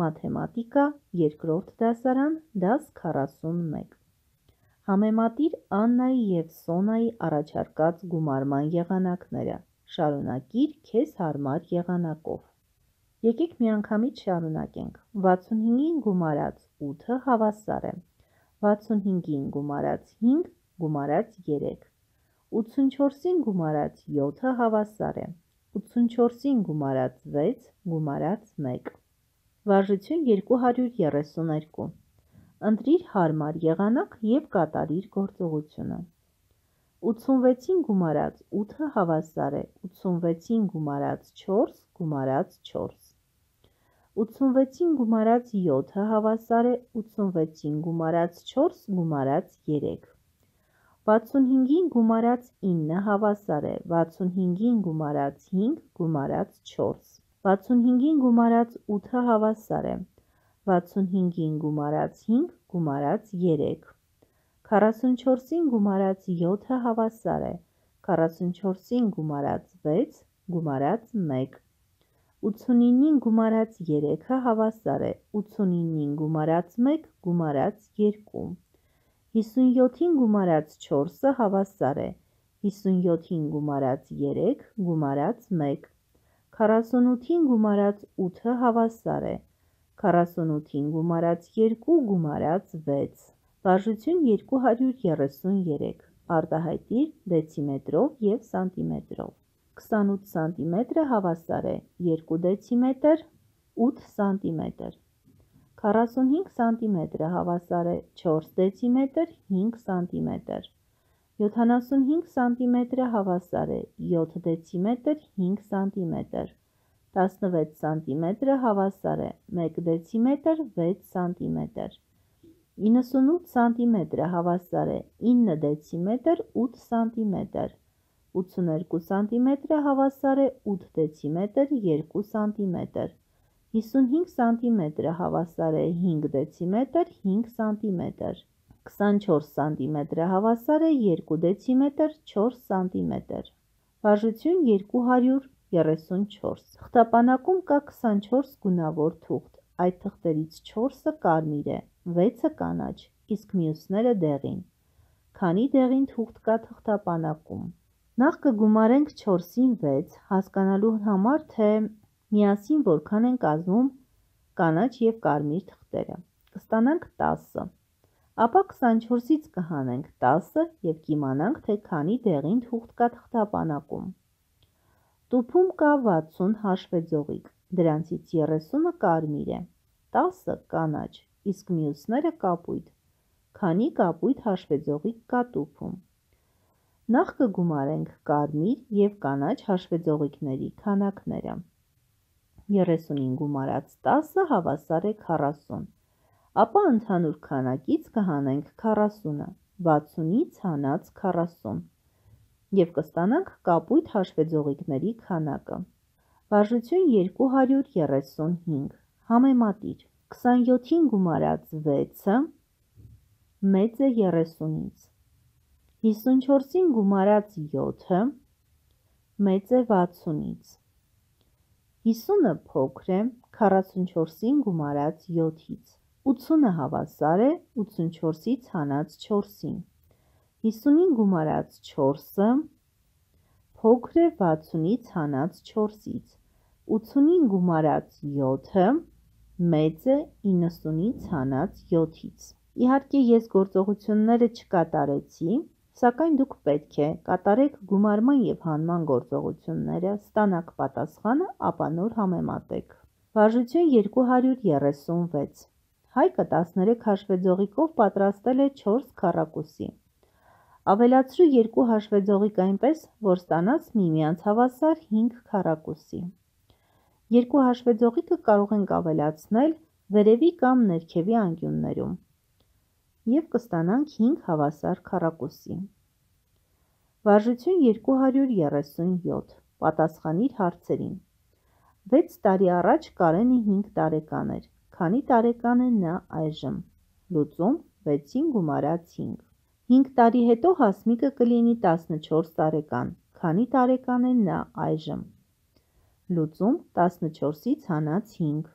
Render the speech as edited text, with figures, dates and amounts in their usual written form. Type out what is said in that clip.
Մաթեմատիկա, երկրորդ դասարան, դաս 41։ Համեմատիր Աննայի և Սոնայի առաջարկած գումարման եղանակները, շարունակիր քեզ հարմար եղանակով։ Եկեք միանգամից շարունակենք, 65-ին գումարած 8-ը հավասար է, 65-ին գումարած 5 գումարած 3, 84-ին գումարած 7-ը հավասար է, 84-ին գումարած 6 գումարած 1, վարժություն 232, ընտրիր հարմար եղանակ և կատարիր գործողությունը, 86-ին գումարած 8-ը հավասար է, 86-ին գումարած 4 գումարած 4, 86-ին գումարած 7-ը հավասար է, 86-ին գումարած 4 գումարած 3, 65-ին գումարած 9-ը հավասար է, 65-ին գումարած 5 գումարած 4, 65-ին գումարած 8-ը հավասար է, 65-ին գումարած 5 գումարած 3, 44-ին գումարած 7-ը հավասար է, 44-ին գումարած 6 գումարած 1, 89-ին գումարած 3-ը հավասար է, 89-ին գումարած 1 գումարած 2, 57-ին գումարած 4-ը հավասար է, 57-ին գումարած 3 գումարած 1, 48-ին գումարած 8-ը հավասար է, 48-ին գումարած 2 գումարած 6, վարժություն 233, արտահայտիր դեցիմետրով և սանտիմետրով, 28 սանտիմետրը հավասար է 2 դեցիմետր, 8 սանտիմետր, 45 սանտիմետրը հավասար է 4 դեցիմետր, 5 սանտիմետր, 75 սանտիմետրը հավասար է 7 դեցիմետր, 5 սանտիմետր, 16 սանտիմետրը հավասար է 1 դեցիմետր, 6 սանտիմետր, 98 սանտիմետրը հավասար է 9 դեցիմետր, 8 սանտիմետր, 82 սանտիմետրը հավասար է 8 դեցիմետր, 2 սանտիմետր, 55 սանտիմետրը հավասար է 5 դեցիմետր, 5 սանտիմետր, 24 սանտիմետրը հավասար է 2 դեցիմետր, 4 սանտիմետր, վարժություն 234, թղթապանակում կա 24 գունավոր թուղթ, այդ թղթերից 4-ը կարմիր է, 6-ը կանաչ, իսկ մյուսները դեղին, քանի դեղին թուղթ կա թղթապանակում, նախ կգումարենք 4-ին 6, հասկանալու համար, թե միասին որքան են կազմում կանաչ և կարմիր թղթերը, կստանանք 10, ապա 24-ից կհանենք 10 և կիմանանք, թե քանի դեղին թուղթ կա թղթապանակում, տուփում կա 60 հաշվեձողիկ, դրանցից 30-ը կարմիր է, 10-ը կանաչ, իսկ մյուսները կապույտ, քանի կապույտ հաշվեձողիկ կա տուփում, նախ կգումարենք կարմիր և կանաչ հաշվեձողիկների քանակները, 30-ին գումարած 10-ը հավասար է 40, ապա ընդհանուր քանակից կհանենք 40-ը, 60-ից հանած 40 և կստանանք կապույտ հաշվեձողիկների քանակը, վարժություն 235, համեմատիր, 27-ին գումարած 6-ը մեծ է 30-ից, 54-ին գումարած 7-ը մեծ է 60-ից, 50-ը փոքր է 44-ին գումարած 7-ից, 80-ը հավասար է 84-ից հանած 4-ին, 50-ին գումարած 4-ը փոքր է 60-ից հանած 4-ից, 80-ին գումարած 7-ը մեծ է 90-ից հանած 7-ից, իհարկե ես գործողությունները չկատարեցի, սակայն դուք պետք է կատարեք գումարման և հանման գործողությունները, ստանաք պատասխանը, ապա նոր համեմատեք, վարժություն 236, Հայկը 13 հաշվեձողիկով պատրաստել է 4 քառակուսի, ավելացրու 2 հաշվեձողիկ այնպես, որ ստանաս միմյանց հավասար 5 քառակուսի, 2 հաշվեձողիկը կարող ենք ավելացնել վերևի կամ ներքևի անկյուններում և կստանանք 5 հավասար քառակուսի, վարժություն 237, պատասխանիր հարցերին, 6 տարի առաջ Կարենը 5 տարեկան էր, քանի տարեկան է նա այժմ, լուծում 6-ին գումարած 5, 5 տարի հետո Հասմիկը կլինի 14 տարեկան, քանի տարեկան է նա այժմ, լուծում 14-ից հանած 5,